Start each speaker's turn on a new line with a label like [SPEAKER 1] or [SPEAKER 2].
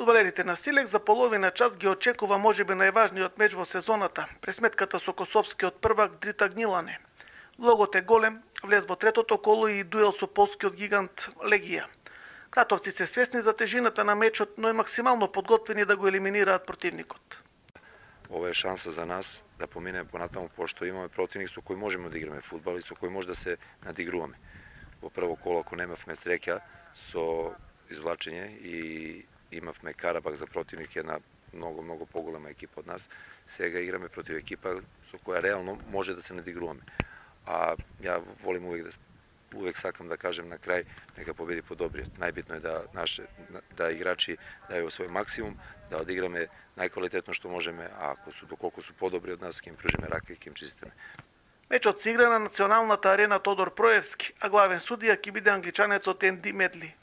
[SPEAKER 1] Фудбалерите на Силек за половина час ги очекува можеби најважниот меч во сезоната, пресметката со косовскиот првак Дрита Гнилане. Влогот е голем, влез во третото коло и дуел со полскиот гигант Легија. Кратовци се свесни за тежината на мечот, но и максимално подготвени да го елиминираат противникот.
[SPEAKER 2] Ова е шанса за нас да поминеме понатаму, пошто имаме противник со кој можеме да играме фудбал и со кој може да се надигруваме. Во прво коло, ако немавме среќа со извлачење и имавме Карабак за противник, една многу поголема екипа од нас, сега играме против екипа со која реално може да се надигруваме. А ја волим увек сакам да кажем на крај, нека победи подобриот. Најбитно е да играчи дају свој максимум, да одиграме најквалитетно што можеме, а доколку су подобри од нас, ќе им пружиме рака и ќе им честитаме.
[SPEAKER 1] Мечот се игра на националната арена Тодор Проевски, а главен судија ќе биде англичанецот Енди Медли.